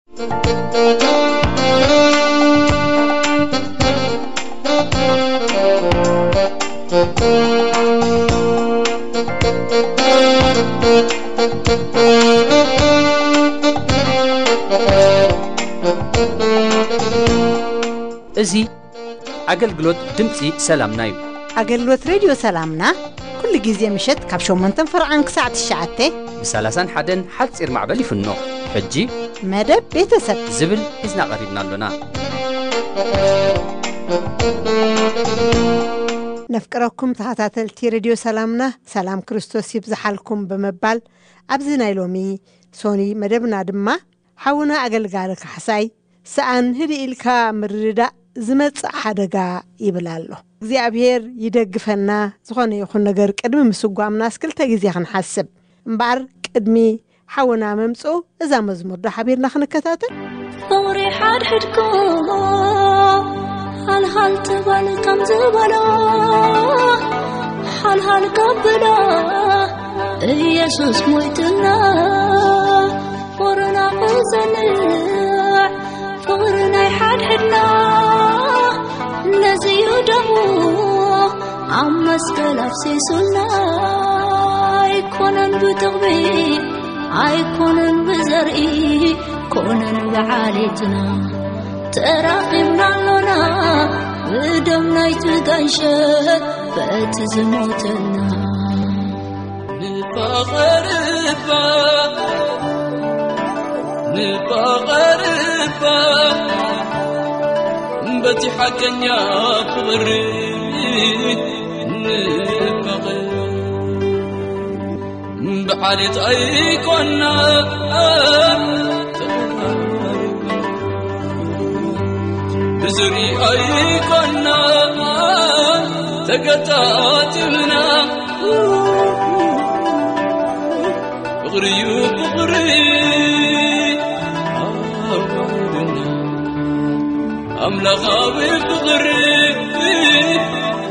እዚ ኣገልግሎት ድምፂ ሰላምና እዩ። ኣገልግሎት ሬድዮ ሰላምና ኩሉ ግዜ ምሸት ካብ ሸሞንተን ፈረቓን ክሳዕ ትሽዓተ ብ ሰላሳን ሓደን ሓፂር ማዕበል ይፍኖ። ሕጂ መደብ ቤተሰብ ዝብል ሒዝና ቀሪብና ኣሎና። ነፍቅረኩም ተኸታተልቲ ሬድዮ ሰላምና፣ ሰላም ክርስቶስ ይብዝሓልኩም ብምባል፣ ኣብዚ ናይ ሎሚ ሶኒ መደብና ድማ ሓውና ኣገልጋሊ ካሕሳይ፣ ሰኣን ህድእ ኢልካ ምርድዳእ ዝመጽእ ሓደጋ ይብል ኣሎ። እግዚኣብሔር ይደግፈና። ዝኾነ ይኹን ነገር ቅድሚ ምስጓምናስ ክልተ ግዜ ክንሓስብ። እምበኣር ቅድሚ ሓውና ምምጽኡ እዛ መዝሙር ዶ ሓቢርና ክንከታተል? ፍቕሪ ሓድሕድኩም ሃልሃል ትበል ከም ዝበሎ፣ ሃልሃል ከብሎ ኢየሱስ ሞይትና። ፍቕርና ክጸንዕ ፍቕሪ ናይ ሓድሕድና፣ ነዚ እዩ ደሙ ኣብ መስቀል ኣፍሲሱልና። ኣይኮነን ብጥቕሚ ኣይኮነን ብዘርኢ ኮነን ብዓሌትና፣ ተራኺብና ኣሎና ብደም ናይቲ ጋንሸ በቲ ዝሞተልና። ንፋቐር እባ፣ ንፋቐር እባ፣ በቲ ሓቀኛ ፍቕሪ ንፋቐር። ብዓሌት ኣይኮና ተቐራሪብና፣ ብዝሪ ኣይኮና ተገጣጢምና። ፍቕሪ እዩ ፍቕሪ ኣዋህደና፣ ኣምላኻዊ ፍቕሪ፣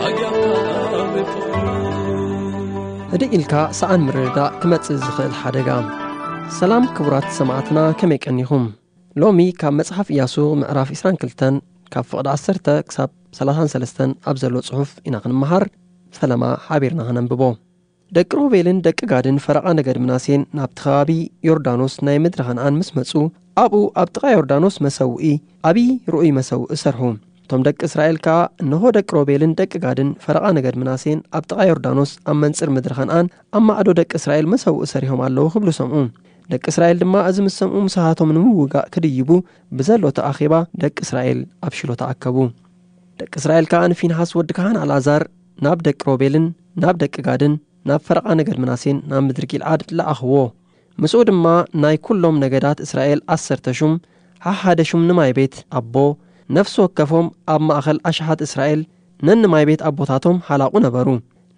ኣጋባዊ ፍቕሪ። ህድእ ኢልካ ሰኣን ምርድዳእ ክመጽእ ዝኽእል ሓደጋ። ሰላም ክቡራት ሰማዕትና፣ ከመይ ቀኒኹም? ሎሚ ካብ መጽሓፍ ኢያሱ ምዕራፍ ዕስራን ክልተን ካብ ፍቕዲ ዓሰርተ ክሳብ ሰላሳን ሰለስተን ኣብ ዘሎ ጽሑፍ ኢና ክንመሃር። ፈለማ ሓቢርና ክነንብቦ። ደቂ ሮቤልን ደቂ ጋድን ፈረቓ ነገድ ምናሴን ናብቲ ከባቢ ዮርዳኖስ ናይ ምድሪ ከነኣን ምስ መጹ፣ ኣብኡ ኣብ ጥቓ ዮርዳኖስ መሰውኢ፣ ዓቢ ርኡይ መሰውኢ ሰርሑ። እቶም ደቂ እስራኤል ከኣ፣ እንሆ፣ ደቂ ሮቤልን ደቂ ጋድን ፈረቓ ነገድ ምናሴን ኣብ ጥቓ ዮርዳኖስ ኣብ መንጽር ምድሪ ከነኣን ኣብ ማዕዶ ደቂ እስራኤል መሰውኢ ሰሪሖም ኣለዉ ክብሉ ሰምዑ። ደቂ እስራኤል ድማ እዚ ምስ ሰምዑ፣ ምሳኻቶም ንምውጋእ ክድይቡ ብዘሎ እቲ ኣኼባ ደቂ እስራኤል ኣብ ሺሎ ተኣከቡ። ደቂ እስራኤል ከኣ ንፊንሃስ ወዲ ካህን ኣልኣዛር ናብ ደቂ ሮቤልን ናብ ደቂ ጋድን ናብ ፈረቓ ነገድ ምናሴን ናብ ምድሪ ጊልዓድ ለኣኽዎ። ምስኡ ድማ ናይ ኵሎም ነገዳት እስራኤል ዓሰርተ ሹም፣ ሓሓደ ሹም ንማይ ቤት ኣቦ፣ ነፍሲ ወከፎም ኣብ ማእከል ኣሽሓት እስራኤል ነንማይ ቤት ኣቦታቶም ሓላቑ ነበሩ።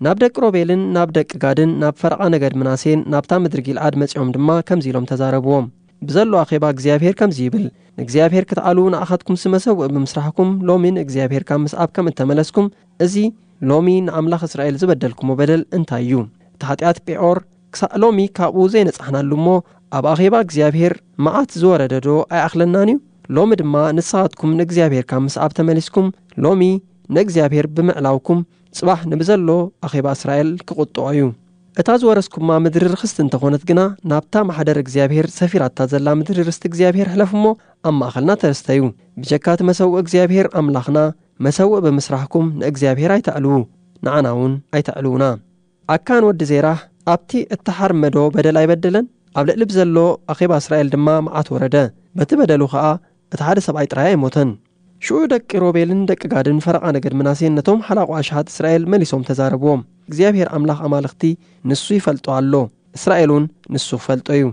ናብ ደቂ ሮቤልን ናብ ደቂ ጋድን ናብ ፈረቓ ነገድ ምናሴን ናብታ ምድሪ ጊልዓድ መጺኦም ድማ ከምዚ ኢሎም ተዛረብዎም። ብዘሎ ኣኼባ እግዚኣብሄር ከምዚ ይብል፣ ንእግዚኣብሄር ክትዓልዉ ንኣኻትኩምሲ መሰውኢ ብምስራሕኩም ሎሚ ንእግዚኣብሄር ካብ ምስዓብ ከም እተመለስኩም፣ እዚ ሎሚ ንኣምላኽ እስራኤል ዝበደልኩሞ በደል እንታይ እዩ? እቲ ሓጢኣት ጴዖር ክሳዕ ሎሚ ካብኡ ዘይነጻሕናሉ እሞ፣ ኣብ ኣኼባ እግዚኣብሄር መዓት ዝወረደዶ ኣይኣኽለናን እዩ? ሎሚ ድማ ንስኻትኩም ንእግዚኣብሄር ካብ ምስዓብ ተመሊስኩም፣ ሎሚ ንእግዚኣብሄር ብምዕላውኩም፣ ጽባሕ ንብዘሎ ኣኼባ እስራኤል ክቕጥዖ እዩ። እታ ዝወረስኩማ ምድሪ ርኽስቲ እንተኾነት ግና፣ ናብታ ማሕደር እግዚኣብሄር ሰፊራታ ዘላ ምድሪ ርስቲ እግዚኣብሄር ሕለፉ እሞ፣ ኣብ ማእኸልና ተስተዩ። ብጀካ እቲ መሰውኢ እግዚኣብሄር ኣምላኽና መሰውኢ ብምስራሕኩም ንእግዚኣብሄር ኣይተዕልዉ፣ ንዓና እውን ኣይተዕልዉና። ኣካን ወዲ ዜራህ ኣብቲ እተሓርመዶ በደል ኣይበደለን? ኣብ ልዕሊ ብዘሎ ኣኼባ እስራኤል ድማ መዓት ወረደ። በቲ በደሉ ኸኣ እቲ ሓደ ሰብኣይ ጥራይ ኣይሞተን። ሽዑ ደቂ ሮቤልን ደቂ ጋድን ፈረቓ ነገድ ምናሴን ነቶም ሓላቑ ኣሽሓት እስራኤል መሊሶም ተዛረብዎም። እግዚኣብሄር ኣምላኽ ኣማልኽቲ ንሱ ይፈልጦ ኣሎ፣ እስራኤል እውን ንሱ ክፈልጦ እዩ።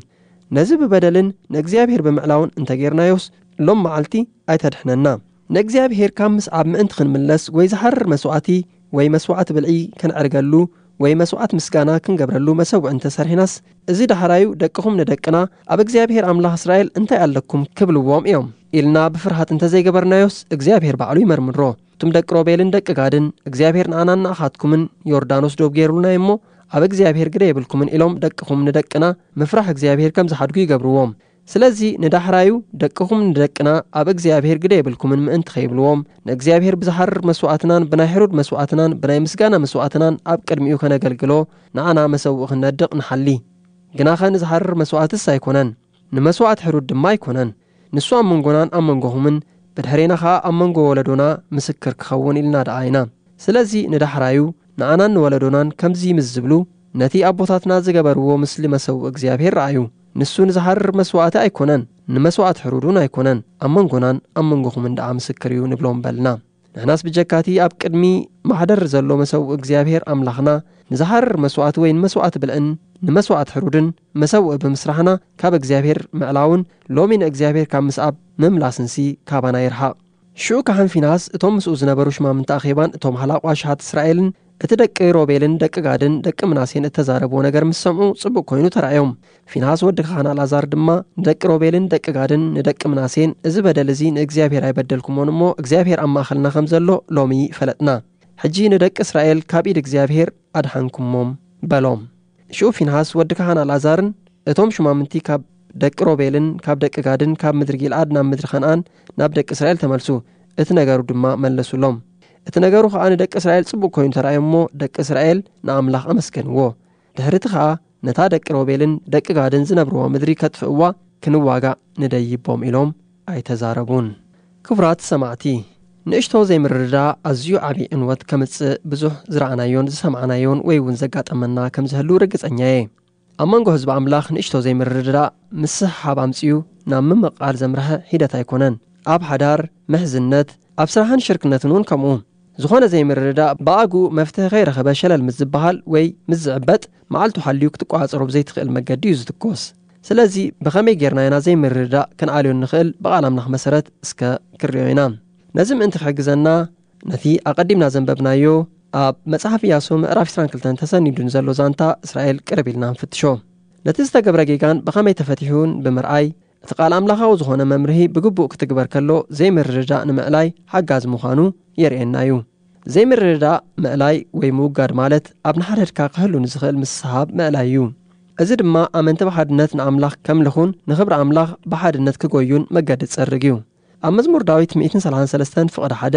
ነዚ ብበደልን ንእግዚኣብሄር ብምዕላውን እንተ ጌርናዮስ፣ ሎም መዓልቲ ኣይተድሕነና። ንእግዚኣብሄር ካብ ምስዓብ ምእንቲ ክንምለስ፣ ወይ ዝሓርር መስዋእቲ፣ ወይ መስዋዕቲ ብልዒ ከነዕርገሉ፣ ወይ መስዋዕት ምስጋና ክንገብረሉ መሰውዒ እንተ ሰርሒናስ፣ እዚ ዳሕራዩ ደቅኹም ንደቅና፣ ኣብ እግዚኣብሄር ኣምላኽ እስራኤል እንታይ ኣለኩም ክብልዎም እዮም ኢልና ብፍርሃት እንተ ዘይገበርናዮስ፣ እግዚኣብሄር ባዕሉ ይመርምሮ። እቶም ደቂ ሮቤልን ደቂ ጋድን፣ እግዚኣብሄር ንኣናን ንኣኻትኩምን ዮርዳኖስ ዶብ ገይሩልና እሞ፣ ኣብ እግዚኣብሄር ግደ የብልኩምን ኢሎም ደቅኹም ንደቅና ምፍራሕ እግዚኣብሄር ከም ዝሓድጉ ይገብርዎም። ስለዚ ንዳሕራዩ ደቅኹም ንደቅና ኣብ እግዚኣብሔር ግደ የብልኩምን ምእንቲ ኸይብልዎም፣ ንእግዚኣብሔር ብዝሃርር መስዋእትናን ብናይ ሕሩድ መስዋእትናን ብናይ ምስጋና መስዋእትናን ኣብ ቅድሚኡ ከነገልግሎ ንዓና መሰውኢ ክንነድቕ ንሓሊ። ግናኸ ንዝሃርር መስዋእትስ ኣይኮነን፣ ንመስዋእት ሕሩድ ድማ ኣይኮነን። ንሱ ኣብ መንጎናን ኣብ መንጎኹምን ብድሕሬና ኸኣ ኣብ መንጎ ወለዶና ምስክር ክኸውን ኢልና ደኣ ኢና። ስለዚ ንዳሕራዩ ንኣናን ንወለዶናን ከምዚ ምስ ዝብሉ፣ ነቲ ኣቦታትና ዝገበርዎ ምስሊ መሰውኢ እግዚኣብሔር ረኣዩ። ንሱ ንዝሃርር መስዋእቲ ኣይኮነን፣ ንመስዋእት ሕሩድ እውን ኣይኮነን፣ ኣብ መንጎናን ኣብ መንጎኹምን ደኣ ምስክር እዩ ንብሎም በልና። ንሕናስ ብጀካቲ ኣብ ቅድሚ ማሕደር ዘሎ መሰውኢ እግዚኣብሔር ኣምላኽና ንዝሃርር መስዋእቲ ወይ ንመስዋእቲ ብልዕን ንመስዋእት ሕሩድን መሰውኢ ብምስራሕና ካብ እግዚኣብሔር ምዕላውን ሎሚ ንእግዚኣብሔር ካብ ምስኣብ ምምላስንሲ ካባና ይርሓቕ። ሽዑ ካህን ፊናስ እቶም ምስኡ ዝነበሩ ሽማምንቲ ኣኼባን እቶም ሓላቑ ኣሽሓት እስራኤልን እቲ ደቂ ሮቤልን ደቂ ጋድን ደቂ ምናሴን እተዛረብዎ ነገር ምስ ሰምዑ ጽቡቕ ኮይኑ ተራእዮም። ፊናስ ወዲ ካህን ኣልኣዛር ድማ ንደቂ ሮቤልን ደቂ ጋድን ንደቂ ምናሴን፣ "እዚ በደል እዚ ንእግዚኣብሔር ኣይበደልኩሞን እሞ እግዚኣብሔር ኣብ ማእኸልና ከም ዘሎ ሎሚ ፈለጥና። ሕጂ ንደቂ እስራኤል ካብ ኢድ እግዚኣብሔር ኣድሓንኩሞም" በሎም። ሽዑ ፊንሃስ ወዲ ካህን ኣልኣዛርን እቶም ሹማምንቲ ካብ ደቂ ሮቤልን ካብ ደቂ ጋድን ካብ ምድሪ ጊልዓድ ናብ ምድሪ ከነኣን ናብ ደቂ እስራኤል ተመልሱ። እቲ ነገሩ ድማ መለሱሎም። እቲ ነገሩ ኸኣ ንደቂ እስራኤል ጽቡቕ ኮይኑ ተራእዮም እሞ ደቂ እስራኤል ንኣምላኽ ኣመስገንዎ። ድሕሪ እቲ ኸኣ ነታ ደቂ ሮቤልን ደቂ ጋድን ዝነብርዋ ምድሪ ከጥፍእዋ ክንዋጋእ ንደይቦም ኢሎም ኣይተዛረቡን። ክቡራት ሰማዕቲ፣ ንእሽቶ ዘይምርድዳእ ኣዝዩ ዓቢ ዕንወት ከምጽእ ብዙሕ ዝረኣናዮን ዝሰማዕናዮን ወይ እውን ዘጋጠመና ከም ዝህሉ ርግጸኛ እየ። ኣብ መንጎ ህዝቢ ኣምላኽ ንእሽቶ ዘይምርድዳእ ምስሕሓብ ኣምጺኡ ናብ ምምቕቓል ዘምርሐ ሒደት ኣይኮነን። ኣብ ሓዳር፣ ምሕዝነት፣ ኣብ ስራሕን ሽርክነትን እውን ከምኡ። ዝኾነ ዘይምርድዳእ ብኣግኡ መፍትሒ ከይረኸበ ሸለል ምስ ዝበሃል ወይ ምስ ዝዕበጥ፣ መዓልቱ ሓልዩ ክትቆጻጸሮ ብዘይትኽእል መገዲ እዩ ዝትኮስ። ስለዚ ብኸመይ ጌርና ኢና ዘይምርድዳእ ክንኣልዮ እንኽእል? ብቓል ኣምላኽ መሰረት እስከ ክንሪኦ ኢና። ነዚ ምእንቲ ክሕግዘና፣ ነቲ ኣቐዲምና ዘንበብናዮ ኣብ መጽሓፍ ኢያሱ ምዕራፍ ዕስራን ክልተን ተሰኒዱ ንዘሎ ዛንታ እስራኤል ቅርብ ኢልና ንፍትሾ። ነቲ ዝተገብረ ጌጋን ብኸመይ ተፈቲሑን ብምርኣይ፣ እቲ ቃል ኣምላኻዊ ዝኾነ መምርሂ ብግቡእ ክትግበር ከሎ ዘይምርድዳእ ንምዕላይ ሓጋዚ ምዃኑ የርእየና እዩ። ዘይምርድዳእ ምዕላይ ወይ ምውጋድ ማለት ኣብ ንሓድሕድካ ክህሉ ንዝኽእል ምስሕሓብ ምዕላይ እዩ። እዚ ድማ ኣመንቲ ብሓድነት ንኣምላኽ ከምልኹን ንኽብሪ ኣምላኽ ብሓድነት ክጎዩን መገዲ ዝጸርግ እዩ። ኣብ መዝሙር ዳዊት ሚእትን ሰላሳን ሰለስተን ፍቕዲ ሓደ፣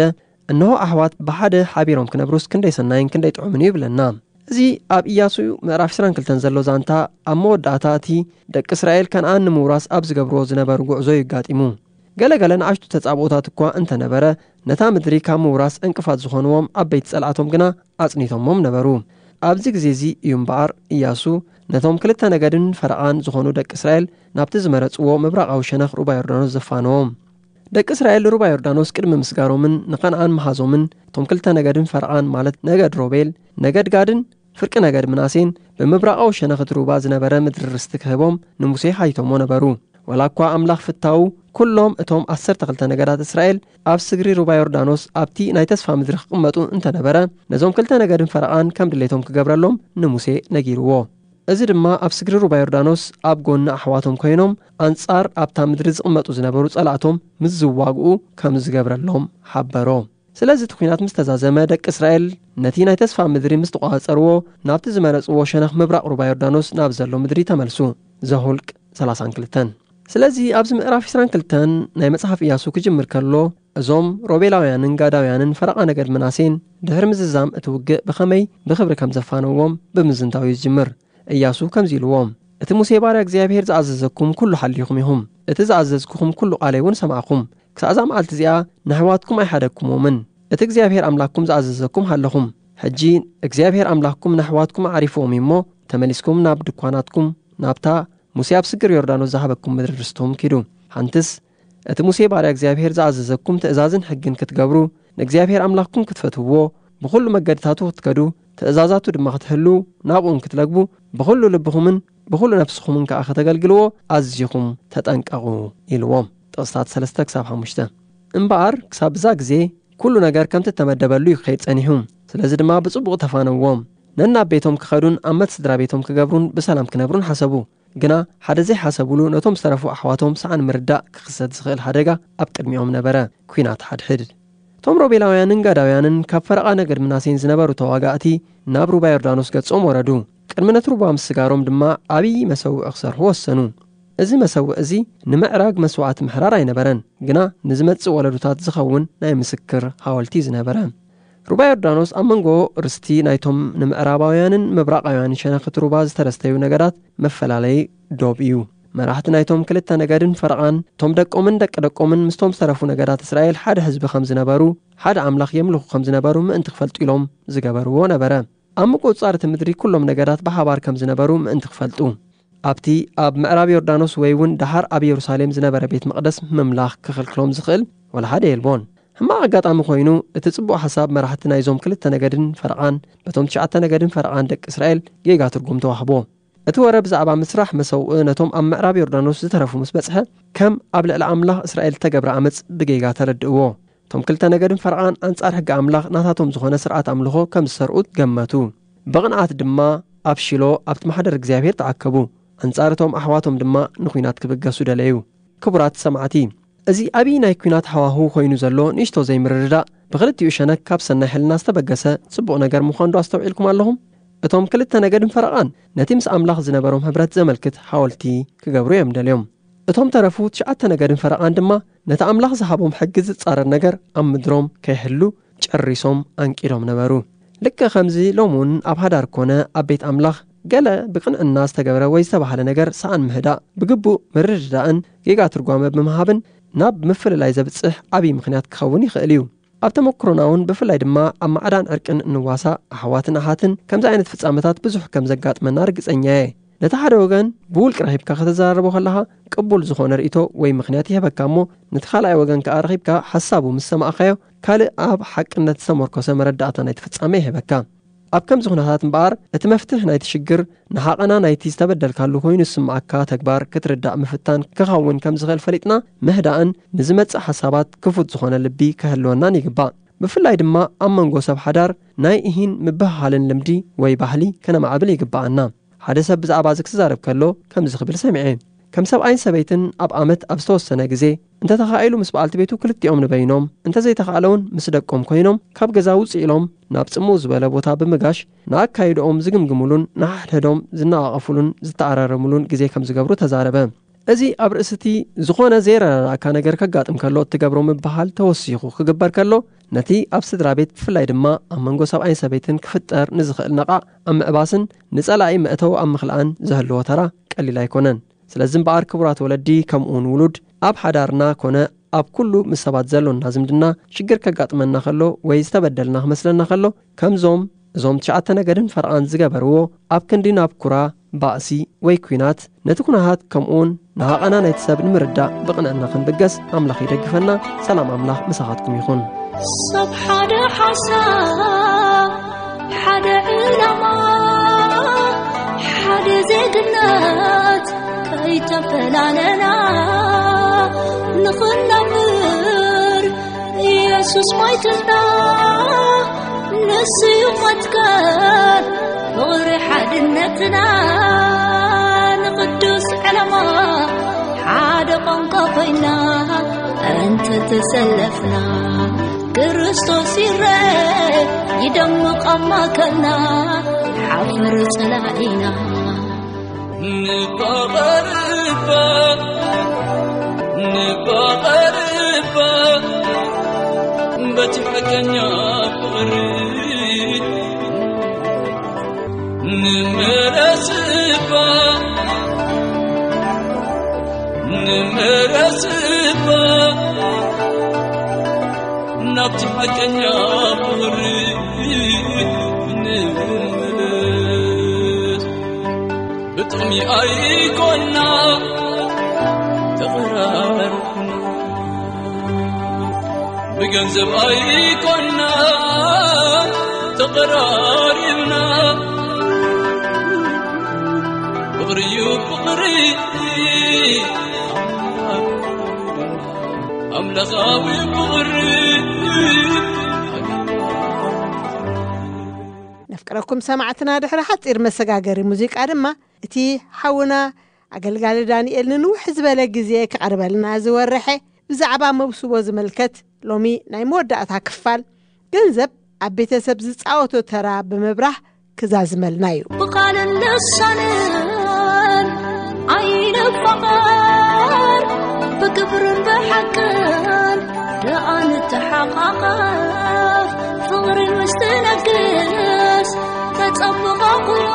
"እንሆ ኣሕዋት ብሓደ ሓቢሮም ክነብሩስ ክንደይ ሰናይን ክንደይ ጥዑምን እዩ" ይብለና። እዚ ኣብ ኢያሱ ምዕራፍ ዕስራን ክልተን ዘሎ ዛንታ ኣብ መወዳእታ እቲ ደቂ እስራኤል ከነኣን ንምውራስ ኣብ ዝገብርዎ ዝነበሩ ጉዕዞ እዩ ኣጋጢሙ። ገለ ገለ ንኣሽቱ ተጻብኦታት እኳ እንተነበረ፣ ነታ ምድሪ ካብ ምውራስ ዕንቅፋት ዝኾንዎም ዓበይቲ ጸላእቶም ግና ኣጽኒቶሞም ነበሩ። ኣብዚ ግዜ እዚ እዩ እምበኣር ኢያሱ ነቶም ክልተ ነገድን ፈረቓን ዝኾኑ ደቂ እስራኤል ናብቲ ዝመረጽዎ ምብራቓዊ ሸነኽ ሩባ ዮርዳኖስ ዘፋነዎም። ደቂ እስራኤል ንሩባ ዮርዳኖስ ቅድሚ ምስጋሮምን ንኸነኣን ምሃዞምን፣ እቶም ክልተ ነገድን ፈረቓን፣ ማለት ነገድ ሮቤል፣ ነገድ ጋድን ፍርቂ ነገድ ምናሴን፣ ብምብራቓዊ ሸነኽ እቲ ሩባ ዝነበረ ምድሪ ርስቲ ክህቦም ንሙሴ ሓቲቶሞ ነበሩ። ዋላ እኳ ኣምላኽ ፍታዉ፣ ኩሎም እቶም ዓሰርተ ክልተ ነገዳት እስራኤል ኣብ ስግሪ ሩባ ዮርዳኖስ ኣብቲ ናይ ተስፋ ምድሪ ክቕመጡ እንተነበረ፣ ነዞም ክልተ ነገድን ፈረቓን ከም ድሌቶም ክገብረሎም ንሙሴ ነጊርዎ። እዚ ድማ ኣብ ስግሪ ሩባ ዮርዳኖስ ኣብ ጎኒ ኣሕዋቶም ኮይኖም ኣንጻር ኣብታ ምድሪ ዝቕመጡ ዝነበሩ ጸላእቶም ምስ ዝዋግኡ ከም ዝገብረሎም ሓበሮ። ስለዚ እቲ ኲናት ምስ ተዛዘመ፣ ደቂ እስራኤል ነቲ ናይ ተስፋ ምድሪ ምስ ተቖጻጸርዎ፣ ናብቲ ዝመረጽዎ ሸነኽ ምብራቕ ሩባ ዮርዳኖስ ናብ ዘሎ ምድሪ ተመልሱ። ዘሁልቅ ሰላሳን ክልተን። ስለዚ ኣብዚ ምዕራፍ ዕስራን ክልተን ናይ መጽሓፍ ኢያሱ ክጅምር ከሎ፣ እዞም ሮቤላውያንን ጋዳውያንን ፈረቓ ነገድ ምናሴን ድሕሪ ምዝዛም እቲ ውግእ ብኸመይ ብኽብሪ ከም ዘፋነዎም ብምዝንታው እዩ ዝጅምር። ኢያሱ ከምዚ ኢልዎም፣ "እቲ ሙሴ ባርያ እግዚኣብሔር ዝኣዘዘኩም ኩሉ ሓሊኹም ኢኹም። እቲ ዝኣዘዝኩኹም ኩሉ ቃለይ እውን ሰማዕኹም። ክሳዕ እዛ መዓልቲ እዚኣ ንኣሕዋትኩም ኣይሓደግኩሞምን። እቲ እግዚኣብሔር ኣምላኽኩም ዝኣዘዘኩም ሃለኹም። ሕጂ እግዚኣብሔር ኣምላኽኩም ንኣሕዋትኩም ኣዕሪፍዎም እዩ እሞ፣ ተመሊስኩም ናብ ድኳናትኩም፣ ናብታ ሙሴ ኣብ ስግር ዮርዳኖስ ዝሃበኩም ምድሪ ርስቶም ኪዱ። ሓንትስ እቲ ሙሴ ባርያ እግዚኣብሔር ዝኣዘዘኩም ትእዛዝን ሕግን ክትገብሩ፣ ንእግዚኣብሔር ኣምላኽኩም ክትፈትውዎ፣ ብኹሉ መገድታቱ ክትከዱ፣ ትእዛዛቱ ድማ ክትሕልዉ፣ ናብኡን ክትለግቡ፣ ብኹሉ ልብኹምን ብኹሉ ነፍስኹምን ከኣ ከተገልግልዎ ኣዚኹም ተጠንቀቑ" ኢልዎም። ጥቕስታት ሰለስተ ክሳብ ሓሙሽተ። እምበኣር ክሳብ እዛ ግዜ ኩሉ ነገር ከምቲ እተመደበሉ እዩ ክኸይድ ጸኒሑ። ስለዚ ድማ ብጽቡቕ ተፋነዎም። ነናብ ቤቶም ክኸዱን ኣብ መት ስድራ ቤቶም ክገብሩን ብሰላም ክነብሩን ሓሰቡ። ግና ሓደ ዘይሓሰቡሉ ነቶም ዝተረፉ ኣሕዋቶም ሰኣን ምርዳእ ክኽሰት ዝኽእል ሓደጋ ኣብ ቅድሚኦም ነበረ። ኲናት ሓድሕድ። እቶም ሮቤላውያንን ጋዳውያንን ካብ ፈረቓ ነገድ ምናሴን ዝነበሩ ተዋጋእቲ ናብ ሩባ ዮርዳኖስ ገጾም ወረዱ። ቅድሚ ነቲ ሩባ ምስጋሮም ድማ ዓብዪ መሰውዒ ክሰርሑ ወሰኑ። እዚ መሰውእ እዚ ንምዕራግ መስዋዕቲ ምሕራር ኣይነበረን፣ ግና ንዝመጽእ ወለዶታት ዝኸውን ናይ ምስክር ሓወልቲ ዝነበረ። ሩባ ዮርዳኖስ ኣብ መንጎ ርስቲ ናይቶም ንምዕራባውያንን ምብራቓውያንን ሸነኽቲ ሩባ ዝተረስተዩ ነገዳት መፈላለዪ ዶብ እዩ። መራሕቲ ናይቶም ክልተ ነገድን ፈርቓን፣ እቶም ደቆምን ደቂ ደቆምን ምስቶም ዝተረፉ ነገዳት እስራኤል ሓደ ህዝቢ ከም ዝነበሩ፣ ሓደ ኣምላኽ የምልኹ ከም ዝነበሩ ምእንቲ ክፈልጡ ኢሎም ዝገበርዎ ነበረ። ኣብ ምቁጽጻር እቲ ምድሪ ኩሎም ነገዳት ብሓባር ከም ዝነበሩ ምእንቲ ክፈልጡ። ኣብቲ ኣብ ምዕራብ ዮርዳኖስ ወይ እውን ደሓር ኣብ የሩሳሌም ዝነበረ ቤት መቕደስ ምምላኽ ክኽልክሎም ዝኽእል ወላ ሓደ የልቦን። ሕማቕ ኣጋጣሚ ኮይኑ፣ እቲ ጽቡቕ ሓሳብ መራሕቲ ናይዞም ክልተ ነገድን ፈርቓን በቶም ትሽዓተ ነገድን ፈርቓን ደቂ እስራኤል ጌጋ ትርጉም ተዋህቦ። እቲ ወረ ብዛዕባ ምስራሕ መሰውእ ነቶም ኣብ ምዕራብ ዮርዳኖስ ዝተረፉ ምስ በጽሐ፣ ከም ኣብ ልዕሊ ኣምላኽ እስራኤል እተገብረ ዓመጽ ብጌጋ ተረድእዎ። እቶም ክልተ ነገድን ፈርቓን ኣንጻር ሕጊ ኣምላኽ ናታቶም ዝኾነ ስርዓት ኣምልኾ ከም ዝሰርዑ ገመቱ። ብቕንዓት ድማ ኣብ ሺሎ ኣብቲ ማሕደር እግዚኣብሔር ተኣከቡ። ኣንጻር እቶም ኣሕዋቶም ድማ ንኲናት ክብገሱ ደለዩ። ክቡራት ሰማዕቲ፣ እዚ ዓብዪ ናይ ኲናት ሃዋህው ኮይኑ ዘሎ ንእሽቶ ዘይምርድዳእ ብኽልቲኡ ሸነክ ካብ ሰናይ ሕልና ዝተበገሰ ጽቡቕ ነገር ምዃኑ ዶ ኣስተውዒልኩም ኣለኹም? እቶም ክልተ ነገድን ፈረቓን ነቲ ምስ ኣምላኽ ዝነበሮም ሕብረት ዘመልክት ሓወልቲ ክገብሩ እዮም ደልዮም። እቶም ተረፉ ትሽዓተ ነገድን ፈረቓን ድማ ነቲ ኣምላኽ ዝሃቦም ሕጊ ዝጻረር ነገር ኣብ ምድሮም ከይሕሉ ጨሪሶም ኣንቂዶም ነበሩ። ልክዕ ከምዚ ሎሚ እውን ኣብ ሃዳር ኮነ ኣብ ቤት ኣምላኽ ገለ ብቅንዕና ዝተገብረ ወይ ዝተባህለ ነገር ሰኣን ምህዳእ፣ ብግቡእ ምርድዳእን ጌጋ ትርጓመ ብምሃብን ናብ ምፍልላይ ዘብጽሕ ዓብዪ ምኽንያት ክኸውን ይኽእል እዩ። ኣብ ተመክሮና እውን ብፍላይ ድማ ኣብ ማዕዳን ዕርቅን እንዋሳእ ኣሕዋትን ኣሓትን ከምዚ ዓይነት ፍጻመታት ብዙሕ ከም ዘጋጥመና ርግጸኛ እየ። ነቲ ሓደ ወገን ብውልቂ ረኺብካ ከተዘራርቦ ከለኻ ቅቡል ዝኾነ ርእይቶ ወይ ምኽንያት ይህበካ እሞ ነቲ ካልኣይ ወገን ከኣ ረኺብካ ሓሳቡ ምስ ሰማዕካዮ ካልእ ኣብ ሓቅነት ዝተመርኮሰ መረዳእታ ናይቲ ፍጻመ ይህበካ። ኣብ ከምዚ ኩነታት እምበኣር እቲ መፍትሕ ናይቲ ሽግር ንሓቐና ናይቲ ዝተበደልካሉ ኮይኑ ዝስምዓካ ተግባር ክትርዳእ ምፍታን ክኸውን ከም ዝኽእል ፈሊጥና ምህዳእን ንዝመጽእ ሓሳባት ክፉት ዝኾነ ልቢ ክህልወናን ይግባእ። ብፍላይ ድማ ኣብ መንጎ ሰብ ሓዳር ናይ እሂን ምብህሃልን ልምዲ ወይ ባህሊ ከነማዕብል ይግባኣና። ሓደ ሰብ ብዛዕባ እዚ ክዛረብ ከሎ ከምዚ ክብል ሰሚዐ። ከም ሰብኣይን ሰበይትን ኣብ ዓመት ኣብ ዝተወሰነ ግዜ እንተተኻኢሉ ምስ በዓልቲ ቤቱ ክልቲኦም ንበይኖም፣ እንተዘይተኻእለውን ምስ ደቆም ኮይኖም ካብ ገዛ ውፅእ ኢሎም ናብ ጽምው ዝበለ ቦታ ብምጋሽ ንኣካይድኦም ዝግምግሙሉን ንሓድሕዶም ዝነቓቐፉሉን ዝተኣራረሙሉን ግዜ ከም ዝገብሩ ተዛረበ። እዚ ኣብ ርእሲ እቲ ዝኾነ ዘይረዳድኣካ ነገር ከጋጥም ከሎ እትገብሮ ምብህሃል ተወሲኹ ክግበር ከሎ፣ ነቲ ኣብ ስድራ ቤት ብፍላይ ድማ ኣብ መንጎ ሰብኣይን ሰበይትን ክፍጠር ንዝኽእል ነቓዕ ኣብ ምዕባስን ንጸላኢ መእተዊ ኣብ ምኽልኣን ዘህልዎ ተራ ቀሊል ኣይኮነን። ስለዚ እምበኣር ክቡራት ወለዲ ከምኡውን ውሉድ ኣብ ሓዳርና ኮነ ኣብ ኩሉ ምስ ሰባት ዘሎና ዝምድና ሽግር ከጋጥመና ከሎ ወይ ዝተበደልና ክመስለና ከሎ ከምዞም እዞም ትሽዓተ ነገድን ፈርቓን ዝገበርዎ ኣብ ክንዲ ናብ ኩራ፣ ባእሲ ወይ ኲናት ነቲ ኩነታት ከምኡውን ንሃቐና ናይቲ ሰብ ንምርዳእ ብቕንዕና ክንብገስ ኣምላኽ ይደግፈና። ሰላም ኣምላኽ ምሳኻትኩም ይኹን። ሰብ ሓደ ሓሳብ ሓደ ዕላማ ሓደ ዜግነት ከይተፈላለና ንኽነብር ኢየሱስ ሞይትና ንስዩ መትከል ፍቕሪ ሓድነትና ንቕዱስ ዕላማ ሓደ ቋንቋ ኮይና እንተተሰለፍና ክርስቶስ ይረ ይደምቕ ኣብ ማእከልና ሓፍር ጸላኢና ንፋቐር እባ ንፋቐር እባ በቲ ሓቀኛ ፍቕሪ ንመለስ እባ ንመለስ እባ ናብቲ ሓቀኛ ፍቕሪ ንመለስ ብጥቕሚ ኣይኮና ተቐራርብና ብገንዘብ ኣይኮና ተቐራሪብና ፍቕሪ እዩ ፍቕሪ ኣምላኻዊ ፍቕሪ ነፍቅረኩም ሰማዕትና ድሕሪ ሓፂር መሰጋገሪ ሙዚቃ ድማ እቲ ሓውና ኣገልጋሊ ዳንኤል ንንውሕ ዝበለ ግዜ ክቐርበልና ዝወረሐ ብዛዕባ መብስቦ ዝምልከት ሎሚ ናይ መወዳእታ ክፋል ገንዘብ ኣብ ቤተሰብ ዝፃወቶ ተራ ብምብራህ ክዛዝመልና እዩ። ብቓልን ልሳንን ኣይነ ንፋቐር ብግብርን ብሓቅን ደኣ ንተሓቓቐፍ፣ ፍቕርን ምስ ትነግስ ተጸብቐ ኩሉ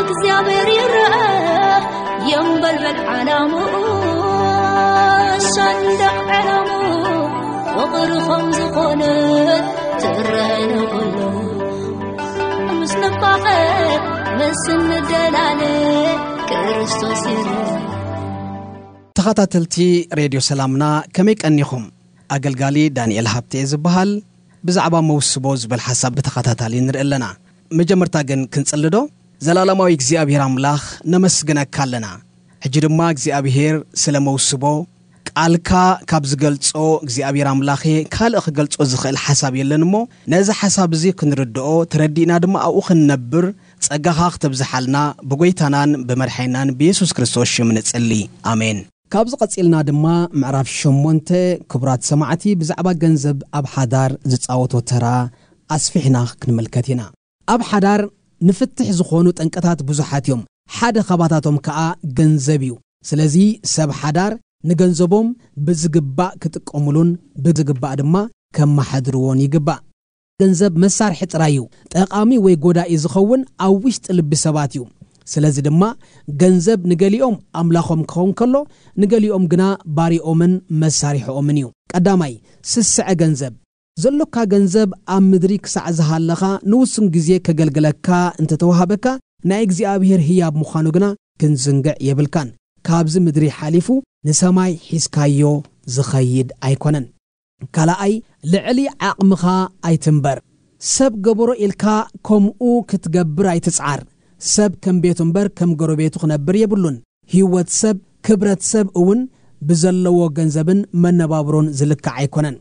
እግዚኣብሔር ይረአ። የንበልበል ዓላምኡ ሰንደቕ ዕላምኡ ፍቕሪ ከም ዝኾነ ትረአ ንኹሉ። ምስ ንፋቐር ምስ እንደላለ ክርስቶስ ይረአ። ተኸታተልቲ ሬድዮ ሰላምና ከመይ ቀኒኹም? ኣገልጋሊ ዳንኤል ሃብተ እየ ዝበሃል። ብዛዕባ መውስቦ ዝበል ሓሳብ ብተኸታታሊ ንርኢ ኣለና። መጀመርታ ግን ክንጽሊ ዶ? ዘላለማዊ እግዚኣብሔር ኣምላኽ ነመስግነካ ኣለና። ሕጂ ድማ እግዚኣብሔር ስለ መውስቦ ቃልካ ካብ ዝገልጾ እግዚኣብሔር ኣምላኸ ካልእ ክገልጾ ዝኽእል ሓሳብ የለን እሞ ነዚ ሓሳብ እዚ ክንርድኦ ተረዲእና ድማ ኣብኡ ክንነብር ጸጋኻ ክተብዝሓልና ብጎይታናን ብመድሓይናን ብየሱስ ክርስቶስ ሽም ንጽሊ። ኣሜን። ካብዚ ቀጺልና ድማ ምዕራፍ ሸሞንተ ክቡራት ሰማዕቲ ብዛዕባ ገንዘብ ኣብ ሓዳር ዝጻወቶ ተራ ኣስፊሕና ክንምልከት ኢና። ኣብ ሓዳር ንፍትሕ ዝኾኑ ጠንቅታት ብዙሓት እዮም። ሓደ ካባታቶም ከኣ ገንዘብ እዩ። ስለዚ ሰብ ሓዳር ንገንዘቦም ብዝግባእ ክጥቀሙሉን ብዝግባእ ድማ ከመሓድርዎን ይግባእ። ገንዘብ መሳርሒ ጥራይ እዩ። ጠቓሚ ወይ ጎዳኢ ዝኸውን ኣብ ውሽጢ ልቢ ሰባት እዩ። ስለዚ ድማ ገንዘብ ንገሊኦም ኣምላኾም ክኸውን ከሎ ንገሊኦም ግና ባሪኦምን መሳርሕኦምን እዩ። ቀዳማይ፣ ስስዐ ገንዘብ። ዘሎካ ገንዘብ ኣብ ምድሪ ክሳዕ ዝሃለኻ ንውሱን ግዜ ከገልግለካ እንተተዋሃበካ ናይ እግዚኣብሔር ህያብ ምዃኑ ግና ክንዝንግዕ የብልካን። ካብዚ ምድሪ ሓሊፉ ንሰማይ ሒዝካዮ ዝኸይድ ኣይኮነን። ካልኣይ፣ ልዕሊ ዓቕምኻ ኣይትንበር። ሰብ ገበሮ ኢልካ ከምኡ ክትገብር ኣይትጽዓር። ሰብ ከም ቤቱ እምበር ከም ጎረቤቱ ክነብር የብሉን። ህይወት ሰብ፣ ክብረት ሰብ እውን ብዘለዎ ገንዘብን መነባብሮን ዝልካዕ ኣይኮነን።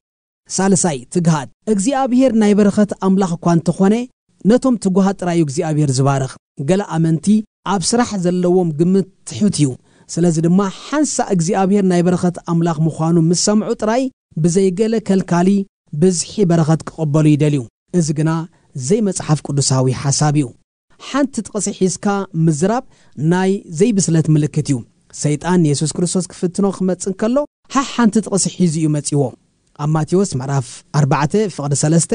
ሳልሳይ፣ ትግሃት። እግዚኣብሔር ናይ በረኸት ኣምላኽ እኳ እንተኾነ፣ ነቶም ትጉሃት ጥራይ እዩ እግዚኣብሔር ዝባርኽ። ገለ ኣመንቲ ኣብ ስራሕ ዘለዎም ግምት ትሑት እዩ። ስለዚ ድማ ሓንሳእ እግዚኣብሔር ናይ በረኸት ኣምላኽ ምዃኑ ምስ ሰምዑ ጥራይ ብዘይገለ ከልካሊ ብዝሒ በረኸት ክቕበሉ ይደልዩ። እዚ ግና ዘይመጽሓፍ ቅዱሳዊ ሓሳብ እዩ። ሓንቲ ጥቕሲ ሒዝካ ምዝራብ ናይ ዘይብስለት ምልክት እዩ። ሰይጣን ንየሱስ ክርስቶስ ክፍትኖ ክመጽእ እንከሎ ሓ ሓንቲ ጥቕሲ ሒዙ እዩ መጺዎ። ኣብ ማቴዎስ ምዕራፍ ኣርባዕተ ፍቕዲ ሰለስተ፣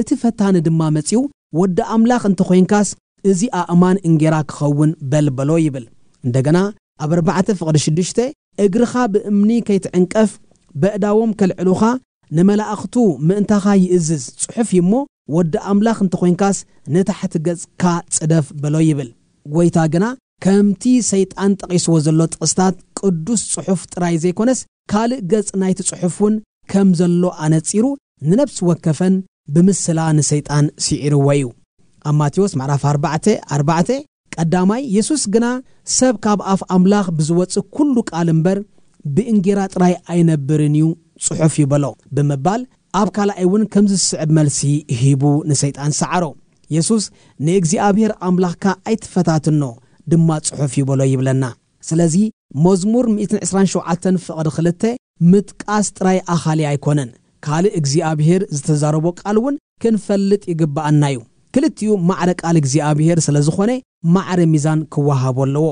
እቲ ፈታኒ ድማ መጺኡ፣ "ወዲ ኣምላኽ እንተኾይንካስ፣ እዚ ኣእማን እንጌራ ክኸውን በል" በሎ ይብል። እንደገና ኣብ ኣርባዕተ ፍቕዲ ሽዱሽተ፣ "እግርኻ ብእምኒ ከይትዕንቀፍ፣ በእዳዎም ከልዕሉኻ፣ ንመላእኽቱ ምእንታኻ ይእዝዝ ጽሑፍ እዩ እሞ፣ ወዲ ኣምላኽ እንተኾይንካስ፣ ንታሕቲ ገጽካ ጽደፍ" በሎ ይብል። ጐይታ ግና ከምቲ ሰይጣን ጠቒስዎ ዘሎ ጥቕስታት ቅዱስ ጽሑፍ ጥራይ ዘይኮነስ፣ ካልእ ገጽ ናይቲ ጽሑፍ እውን ከም ዘሎ ኣነጺሩ፣ ንነፍሲ ወከፈን ብምስላ ንሰይጣን ስዒርዎ እዩ። ኣብ ማቴዎስ ምዕራፍ ኣርባዕተ ኣርባዕተ፣ ቀዳማይ፣ የሱስ ግና፣ "ሰብ ካብ ኣፍ ኣምላኽ ብዝወጽእ ኩሉ ቃል እምበር፣ ብእንጌራ ጥራይ ኣይነብርን እዩ ጽሑፍ እዩ" በሎ ብምባል፣ ኣብ ካልኣይ እውን ከምዚ ዝስዕብ መልሲ ሂቡ ንሰይጣን ሰዓሮ። የሱስ፣ "ንእግዚኣብሔር ኣምላኽካ ኣይትፈታትኖ ድማ ጽሑፍ እዩ" በሎ ይብለና። ስለዚ መዝሙር ሚእትን ዕስራን ሸውዓተን ፍቕዲ ክልተ ምጥቃስ ጥራይ ኣኻሊ ኣይኮነን። ካልእ እግዚኣብሔር ዝተዛረቦ ቃል እውን ክንፈልጥ ይግብኣና እዩ። ክልቲኡ ማዕረ ቃል እግዚኣብሔር ስለ ዝኾነ ማዕረ ሚዛን ክወሃቦ ኣለዎ።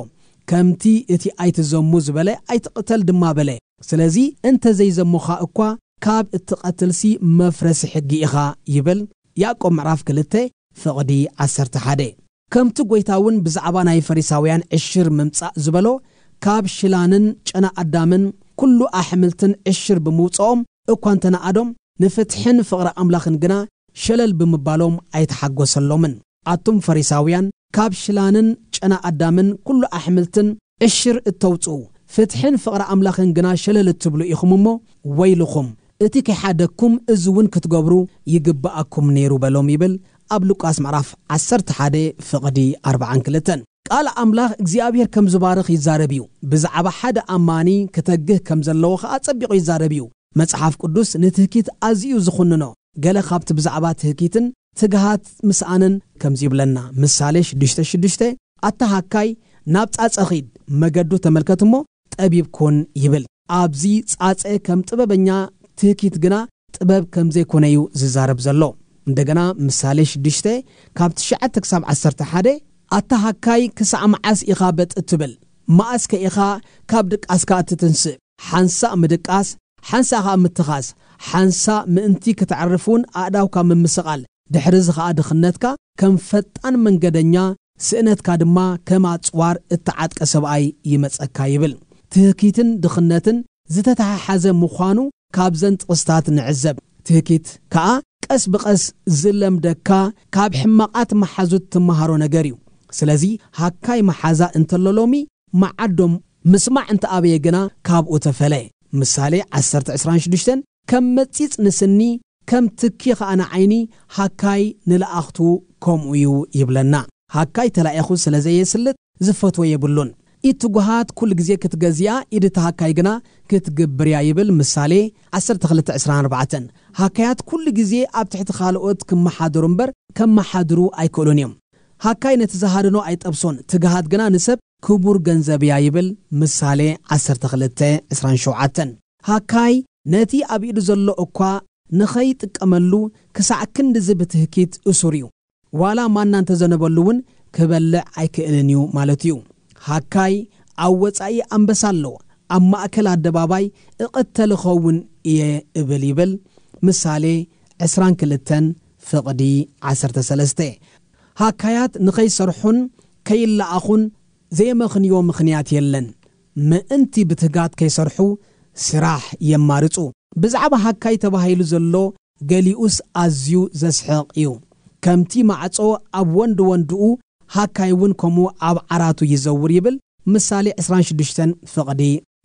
ከምቲ እቲ "ኣይትዘሙ" ዝበለ "ኣይትቕተል" ድማ በለ። ስለዚ እንተ ዘይዘሙኻ እኳ ካብ እትቐትልሲ መፍረሲ ሕጊ ኢኻ ይብል ያዕቆብ ምዕራፍ ክልተ ፍቕዲ ዓሰርተ ሓደ። ከምቲ ጐይታ እውን ብዛዕባ ናይ ፈሪሳውያን ዕሽር ምምጻእ ዝበሎ፣ ካብ ሽላንን ጨና ኣዳምን ኩሉ ኣሕምልትን ዕሽር ብምውጽኦም እኳ እንተነኣዶም፣ ንፍትሕን ፍቕሪ ኣምላኽን ግና ሸለል ብምባሎም ኣይተሓጎሰሎምን። ኣቱም ፈሪሳውያን፣ ካብ ሽላንን ጨና ኣዳምን ኩሉ ኣሕምልትን ዕሽር እተውጽኡ፣ ፍትሕን ፍቕሪ ኣምላኽን ግና ሸለል እትብሉ ኢኹም እሞ፣ ወይልኹም! እቲ ከይሓደግኩም እዚ እውን ክትገብሩ ይግብኣኩም ነይሩ በሎም ይብል ኣብ ሉቃስ ምዕራፍ ዓሰርተ ሓደ ፍቕዲ ኣርብዓን ክልተን። ቃል ኣምላኽ እግዚኣብሔር ከም ዝባርኽ ይዛረብ እዩ። ብዛዕባ ሓደ ኣማኒ ክተግህ ከም ዘለዎ ኸኣ ጸቢቑ ይዛረብ እዩ። መጽሓፍ ቅዱስ ንትህኪት ኣዝዩ እዩ ዝኹንኖ። ገለ ካብቲ ብዛዕባ ትህኪትን ትግሃት ምስኣንን ከምዚ ይብለና። ምሳሌ ሽዱሽተ ሽዱሽተ፣ "ኣታ ሃካይ፣ ናብ ጻጸ ኺድ፣ መገዱ ተመልከት እሞ ጠቢብ ኩን" ይብል። ኣብዚ ጻጸ ከም ጥበበኛ ትህኪት ግና ጥበብ ከም ዘይኮነ እዩ ዝዛረብ ዘሎ። እንደገና ምሳሌ ሽዱሽተ ካብ ትሽዓተ ክሳብ ዓሰርተ ሓደ፣ "ኣታ ሃካይ፣ ክሳዕ መዓስ ኢኻ በጥ እትብል? መኣስ ከ ኢኻ ካብ ድቃስካ እትትንስእ? ሓንሳእ ምድቃስ፣ ሓንሳእ ኸኣ ምትኻስ፣ ሓንሳእ ምእንቲ ክተዕርፍ እውን ኣእዳውካ ምምስቓል፣ ድሕሪ እዚ ኸኣ ድኽነትካ ከም ፈጣን መንገደኛ፣ ስእነትካ ድማ ከም ኣጽዋር እተዓጥቀ ሰብኣይ ይመጸካ ይብል። ትህኪትን ድኽነትን ዝተተሓሓዘ ምዃኑ ካብዘን ጥቕስታት ንዕዘብ። ትህኪት ከኣ ቀስ ብቐስ ዝለምደካ፣ ካብ ሕማቓት መሓዙት ትመሃሮ ነገር እዩ። ስለዚ ሃካይ መሓዛ እንተሎ ሎሚ መዓዶም ምስማዕ እንተኣበየ ግና ካብኡ ተፈለ። ምሳሌ ዓሰርተ ዕስራን ሽዱሽተን ከም መጺጽ ንስኒ፣ ከም ትኪ ኸኣ ንዓይኒ፣ ሃካይ ንለኣኽቱ ከምኡ እዩ ይብለና። ሃካይ ተላኢኹ ስለ ዘየስልጥ ዝፈትዎ የብሉን። ኢድ ትጉሃት ኩሉ ግዜ ክትገዝያ፣ ኢድ እቲ ሃካይ ግና ክትግብርያ ይብል ምሳሌ ዓሰርተ ክልተ ዕስራን ኣርባዕተን። ሃካያት ኩሉ ግዜ ኣብ ትሕቲ ካልኦት ክመሓደሩ እምበር ከመሓድሩ ኣይክእሉን እዮም። ሃካይ ነቲ ዝሃደኖ ኣይጠብሶን፣ ትግሃት ግና ንሰብ ክቡር ገንዘብ እያ ይብል ምሳሌ ዓሰርተ ክልተ ዕስራን ሸውዓተን። ሃካይ ነቲ ኣብ ኢዱ ዘሎ እኳ ንኸይጥቀመሉ ክሳዕ ክንድዚ ብትህኪት እሱር እዩ። ዋላ ማና እንተዘነበሉ እውን ክበልዕ ኣይክእልን እዩ ማለት እዩ። ሃካይ ኣብ ወጻኢ ኣንበሳ ኣሎ፣ ኣብ ማእከል ኣደባባይ እቕተል እኸውን እየ እብል ይብል ምሳሌ ዕስራን ክልተን ፍቕዲ ዓሰርተ ሰለስተ። ሃካያት ንኸይሰርሑን ከይለኣኹን ዘየመኽንዮ ምኽንያት የለን። ምእንቲ ብትጋት ከይሰርሑ ስራሕ የማርጹ። ብዛዕባ ሃካይ ተባሂሉ ዘሎ ገሊኡስ ኣዝዩ ዘስሕቕ እዩ። ከምቲ ማዕጾ ኣብ ወንድ ወንድኡ፣ ሃካይ እውን ከምኡ ኣብ ዓራቱ ይዘውር ይብል ምሳሌ ዕስራን ሽዱሽተን ፍቕዲ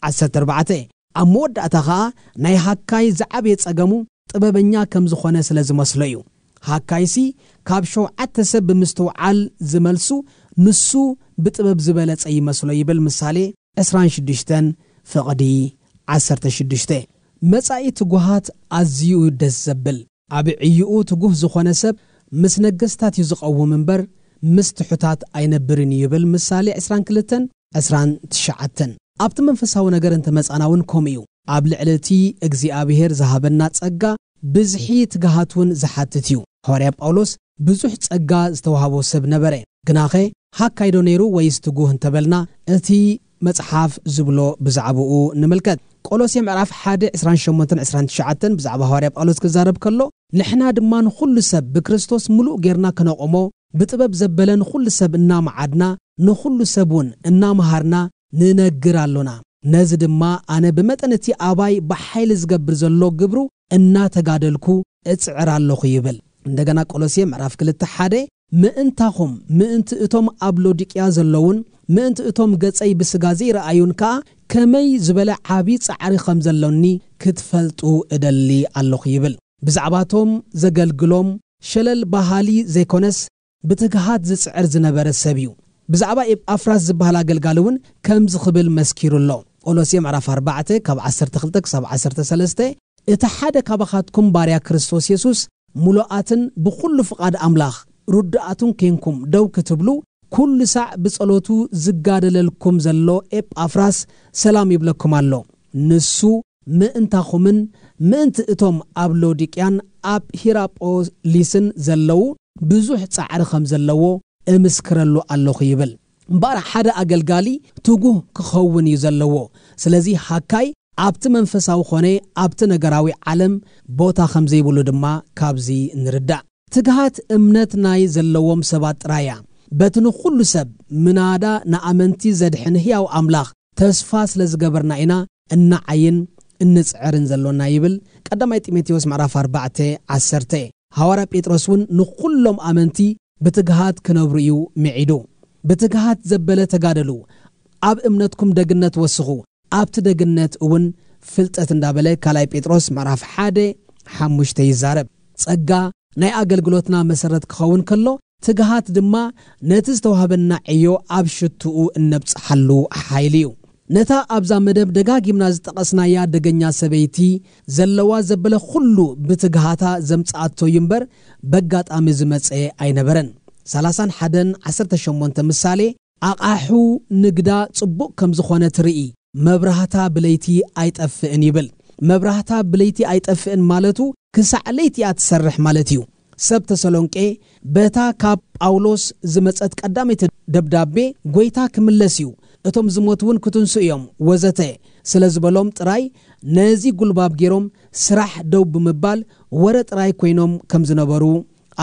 ዓሰርተ ኣርባዕተ። ኣብ መወዳእታ ኸኣ ናይ ሃካይ ዝዓበየ ጸገሙ ጥበበኛ ከም ዝኾነ ስለ ዝመስሎ እዩ። ሃካይሲ ካብ ሸውዓተ ሰብ ብምስትውዓል ዝመልሱ ንሱ ብጥበብ ዝበለጸ ይመስሎ ይብል ምሳሌ ዕስራን ሽዱሽተን ፍቕዲ ዓሰርተ ሽዱሽተ። መጻኢ ትጉሃት ኣዝዩ ደስ ዘብል። ኣብ ዕይኡ ትጉህ ዝኾነ ሰብ ምስ ነገስታት እዩ ዝቐውም እምበር ምስ ትሑታት ኣይነብርን እዩ ይብል ምሳሌ ዕስራን ክልተን ዕስራን ትሽዓተን። ኣብቲ መንፈሳዊ ነገር እንተመጻና እውን ከምኡ እዩ። ኣብ ልዕሊ እቲ እግዚኣብሔር ዝሃበና ጸጋ ብዝሒ ትግሃት እውን ዝሓትት እዩ። ሃዋርያ ጳውሎስ ብዙሕ ጸጋ ዝተዋህቦ ሰብ ነበረ። ግናኸ ሃካይዶ ነይሩ ወይስ ትጉህ እንተበልና እቲ መጽሓፍ ዝብሎ ብዛዕባኡ ንምልከት። ቆሎሴ ምዕራፍ ሓደ ዕስራን ሸሞንተን ዕስራን ትሽዓተን ብዛዕባ ሃዋርያ ጳውሎስ ክዛረብ ከሎ፣ ንሕና ድማ ንኹሉ ሰብ ብክርስቶስ ምሉእ ጌርና ክነቑሞ ብጥበብ ዘበለ ንኹሉ ሰብ እናመዓድና ንኹሉ ሰብ እውን እናመሃርና ንነግር ኣሎና። ነዚ ድማ ኣነ ብመጠን እቲ ኣባይ ብሓይሊ ዝገብር ዘሎ ግብሩ እናተጋደልኩ እጽዕር ኣለኹ ይብል። እንደገና ቆሎሴ ምዕራፍ ክልተ ሓደ ምእንታኹም ምእንቲ እቶም ኣብ ሎዲቅያ ዘለውን ምእንቲ እቶም ገጸይ ብስጋ ዘይረኣዩን ከኣ ከመይ ዝበለ ዓቢ ጻዕሪ ከም ዘሎኒ ክትፈልጡ እደሊ ኣለኹ ይብል። ብዛዕባቶም ዘገልግሎም ሸለል በሃሊ ዘይኮነስ ብትግሃት ዝጽዕር ዝነበረ ሰብ እዩ። ብዛዕባ ኤጳፍራስ ዝበሃል ኣገልጋሊ እውን ከምዚ ክብል መስኪሩ ኣሎ። ቆሎሴ ምዕራፍ ኣርባዕተ ካብ ዓሰርተ ክልተ ክሳብ ዓሰርተ ሰለስተ፣ እቲ ሓደ ካባኻትኩም ባርያ ክርስቶስ የሱስ ምሉኣትን ብኹሉ ፍቓድ ኣምላኽ ርዱኣቱን ኬንኩም ደው ክትብሉ ኩሉ ሳዕ ብጸሎቱ ዝጋደለልኩም ዘሎ ኤጳፍራስ ሰላም ይብለኩም ኣሎ። ንሱ ምእንታኹምን ምእንቲ እቶም ኣብ ሎዲቅያን ኣብ ሂራጶሊስን ዘለዉ ብዙሕ ጻዕሪ ከም ዘለዎ እምስክረሉ ኣለኹ ይብል። እምበኣር ሓደ ኣገልጋሊ ትጉህ ክኸውን እዩ ዘለዎ። ስለዚ ሃካይ ኣብቲ መንፈሳዊ ኾነ ኣብቲ ነገራዊ ዓለም ቦታ ከም ዘይብሉ ድማ ካብዚ ንርዳእ። ትግሃት እምነት ናይ ዘለዎም ሰባት ጥራይ እያ። በቲ ንኹሉ ሰብ ምናዳ ንኣመንቲ ዘድሕን ህያው ኣምላኽ ተስፋ ስለ ዝገበርና ኢና እንዓይን እንጽዕርን ዘሎና ይብል ቀዳማይ ጢሞቴዎስ ምዕራፍ ኣርባዕተ ዓሰርተ። ሃዋርያ ጴጥሮስ እውን ንኹሎም ኣመንቲ ብትግሃት ክነብሩ እዩ ምዒዱ። ብትግሃት ዘበለ ተጋደሉ፣ ኣብ እምነትኩም ደግነት ወስኹ፣ ኣብቲ ደግነት እውን ፍልጠት እንዳበለ ካልኣይ ጴጥሮስ ምዕራፍ ሓደ ሓሙሽተ ይዛረብ። ጸጋ ናይ ኣገልግሎትና መሰረት ክኸውን ከሎ፣ ትግሃት ድማ ነቲ ዝተዋህበና ዕዮ ኣብ ሽትኡ እነብጽሓሉ ሓይሊ እዩ። ነታ ኣብዛ መደብ ደጋጊምና ዝጠቐስናያ ደገኛ ሰበይቲ ዘለዋ ዘበለ ኩሉ ብትግሃታ ዘምጽኣቶ እዩ እምበር በጋጣሚ ዝመጸ ኣይነበረን። ሰላሳን ሓደን ዓሰርተ ሸሞንተ ምሳሌ ኣቓሑ ንግዳ ጽቡቕ ከም ዝኾነ ትርኢ፣ መብራህታ ብለይቲ ኣይጠፍእን ይብል። መብራህታ ብለይቲ ኣይጠፍእን ማለቱ ክሳዕ ለይቲ እያ ትሰርሕ ማለት እዩ። ሰብ ተሰሎንቄ በታ ካብ ጳውሎስ ዝመጸት ቀዳመይቲ ደብዳቤ ጎይታ ክምለስ እዩ፣ እቶም ዝሞት እውን ክትንሱ እዮም፣ ወዘተ ስለ ዝበሎም ጥራይ ነዚ ጉልባብ ገይሮም ስራሕ ደው ብምባል ወረ ጥራይ ኮይኖም ከም ዝነበሩ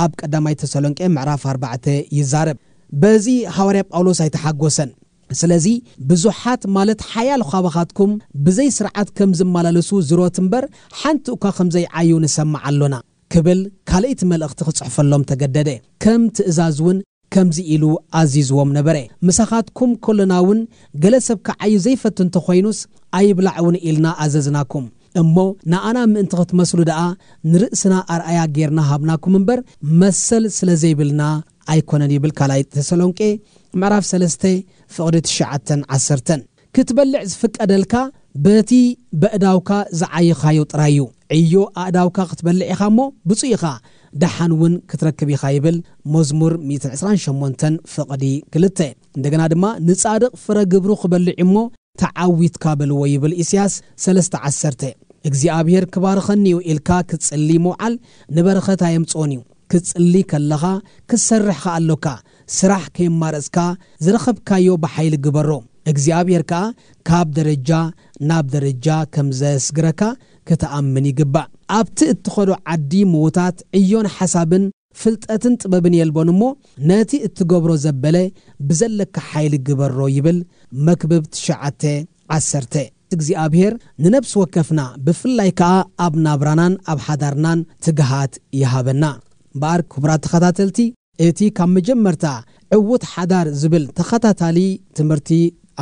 ኣብ ቀዳማይ ተሰሎንቄ ምዕራፍ ኣርባዕተ ይዛረብ። በዚ ሃዋርያ ጳውሎስ ኣይተሓጎሰን። ስለዚ ብዙሓት ማለት ሓያል ኻባኻትኩም ብዘይ ስርዓት ከም ዝመላለሱ ዝሮት እምበር ሓንቲ እኳ ከም ዘይዓዩ ንሰምዕ ኣሎና ክብል ካልእቲ መልእኽቲ ክጽሕፈሎም ተገደደ። ከም ትእዛዝ እውን ከምዚ ኢሉ ኣዚዝዎም ነበረ። ምሳኻትኩም ከሎና እውን ገለ ሰብ ክዓዩ ዘይፈቱ እንተኾይኑስ ኣይብላዕ እውን ኢልና ኣዘዝናኩም። እሞ ንኣና ምእንቲ ክትመስሉ ደኣ ንርእስና ኣርኣያ ጌርና ሃብናኩም እምበር መሰል ስለ ዘይብልና ኣይኮነን ይብል ካልኣይ ተሰሎንቄ ምዕራፍ ሰለስተ ፍቕዲ ትሽዓተን ዓሰርተን። ክትበልዕ ዝፍቀደልካ በቲ በእዳውካ ዝዓየኻዮ ጥራይ እዩ። ዕዮ ኣእዳውካ ክትበልዕ ኢኻ እሞ ብፁዕ ኢኻ፣ ደሓን እውን ክትረክብ ኢኻ ይብል መዝሙር ሚእትን ዕስራን ሸሞንተን ፍቕዲ ክልተ። እንደገና ድማ ንጻድቕ ፍረ ግብሩ ክበልዕ እሞ ተዓዊትካ በልዎ ይብል ኢሳያስ ሰለስተ ዓሰርተ። እግዚኣብሔር ክባርኸኒ እዩ ኢልካ ክትጽሊ ምውዓል ንበረኸት ኣየምጽኦን እዩ። ክትጽሊ ከለኻ ክትሰርሕ ከኣ ኣሎካ። ስራሕ ከየማረጽካ ዝረኸብካዮ ብሓይሊ ግበሮ። እግዚኣብሔር ከኣ ካብ ደረጃ ናብ ደረጃ ከም ዘስግረካ ክትኣምን ይግባእ። ኣብቲ እትኸዶ ዓዲ ምዉታት ዕዮን ሓሳብን ፍልጠትን ጥበብን የልቦን እሞ ነቲ እትገብሮ ዘበለ ብዘለካ ሓይሊ ግበሮ ይብል መክብብ ትሽዓተ ዓሰርተ። እግዚኣብሔር ንነብሲ ወከፍና ብፍላይ ከኣ ኣብ ናብራናን ኣብ ሓዳርናን ትግሃት ይሃበና። እምበኣር ክቡራት ተኸታተልቲ፣ እቲ ካብ መጀመርታ ዕዉት ሓዳር ዝብል ተኸታታሊ ትምህርቲ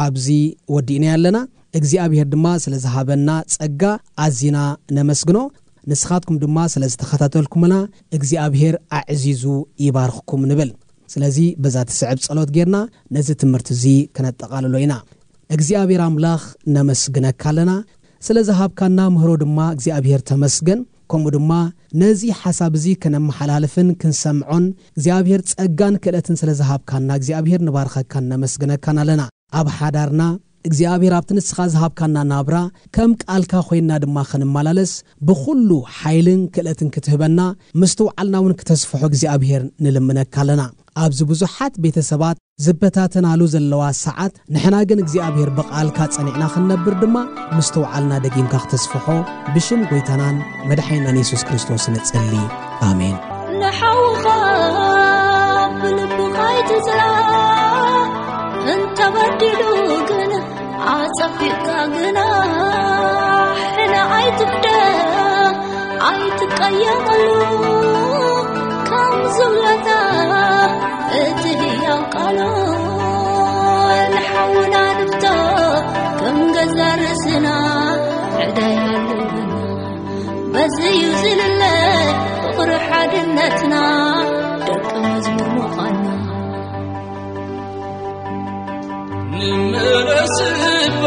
ኣብዚ ወዲእና ኣለና። እግዚኣብሔር ድማ ስለ ዝሃበና ጸጋ ኣዚና ነመስግኖ። ንስኻትኩም ድማ ስለ ዝተኸታተልኩምና እግዚኣብሔር ኣዕዚዙ ይባርኽኩም ንብል። ስለዚ በዛ ትስዕብ ጸሎት ጌርና ነዚ ትምህርቲ እዚ ከነጠቓልሎ ኢና። እግዚኣብሔር ኣምላኽ ነመስግነካ ኣለና። ስለ ዝሃብካና ምህሮ ድማ እግዚኣብሔር ተመስገን። ከምኡ ድማ ነዚ ሓሳብ እዚ ከነመሓላልፍን ክንሰምዖን እግዚኣብሔር ጸጋን ክእለትን ስለ ዝሃብካና እግዚኣብሔር ንባርኸካን ነመስግነካን ኣለና። ኣብ ሓዳርና እግዚኣብሔር ኣብቲ ንስኻ ዝሃብካና ናብራ ከም ቃልካ ኮይንና ድማ ክንመላለስ ብኹሉ ሓይልን ክእለትን ክትህበና ምስትውዓልና እውን ክተስፍሖ እግዚኣብሔር ንልምነካ ኣለና። ኣብዚ ብዙሓት ቤተሰባት ዝበታተናሉ ዘለዋ ሰዓት ንሕና ግን እግዚኣብሔር ብቓልካ ጸኒዕና ክንነብር ድማ ምስትውዓልና ደጊምካ ክተስፍሖ ብሽም ጎይታናን መድሓኒናን የሱስ ክርስቶስ ንጽሊ። ኣሜን። ንሓውኻ ብልብኻ ኣይትጽላእ፣ እንተበዲሉ ግን ኣጸፊእካ ግናሕ ኣይትፍደ፣ ኣይትቀየመሉ። ከም ዝብለታ እቲ ህያው ቃሉ ንሓውና ንፍቶ ከም ገዛ ርእስና ዕዳይ ኣለና። በዚ እዩ ዝልለ ፍቕሪ ሓድነትና ደቂ መዝሙር ምዃንና። ንመለስ እባ፣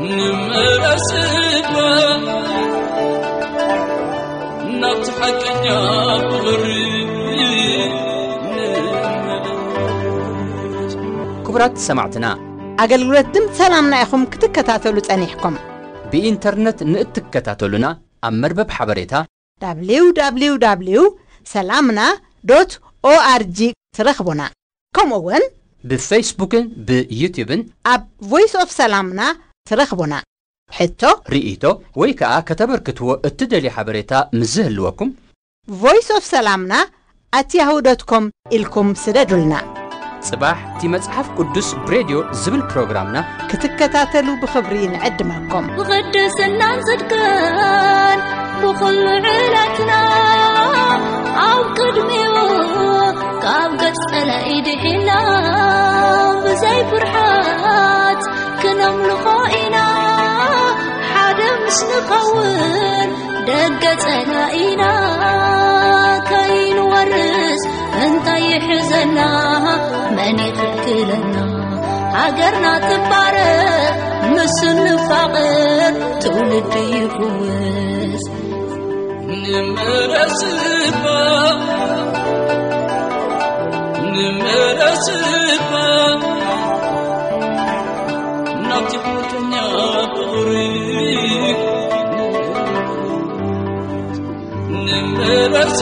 ንመለስ እባ፣ ናብቲ ሓቀኛ ፍቕሪ ንመለስ። ክቡራት ሰማዕትና፣ ኣገልግሎት ድምፂ ሰላምና ኢኹም ክትከታተሉ ጸኒሕኩም። ብኢንተርነት ንእትከታተሉና ኣብ መርበብ ሓበሬታ www ሰላምና ዶት ኦኣርጂ ትረኽቡና። ከምኡ እውን ብፌስቡክን ብዩትዩብን ኣብ ቮይስ ኦፍ ሰላምና ትረኽቡና። ሕቶ፣ ርእይቶ ወይ ከኣ ከተበርክትዎ እትደልዩ ሓበሬታ ምስ ዝህልወኩም ቮይስ ኦፍ ሰላምና ኣት ያሁ ዶት ኮም ኢልኩም ስደዱልና። ጽባሕ እቲ መጽሓፍ ቅዱስ ብሬድዮ ዝብል ፕሮግራምና ክትከታተሉ ብኽብሪ ንዕድመኩም። ብቕድስናን ጽድቅን ብኹሉ ዕለትና ኣብ ቅድሚኡ ካብ ገጽ ጸላኢ ድሒና ብዘይ ፍርሓት ክነምልኾ ኢና። ሓደ ምስ ንኸውን ደገ ጸላኢና ከይንወርስ እንታይ ይሕዘና? መን ይኽልክለና? ሃገርና ትባረኽ፣ ምስ ንፋቐር ትውልዲ ይፍወስ። ንመለስ እባ፣ ንመለስ እባ፣ ናብቲ ሓቀኛ ፍቕሪ ንመለስ።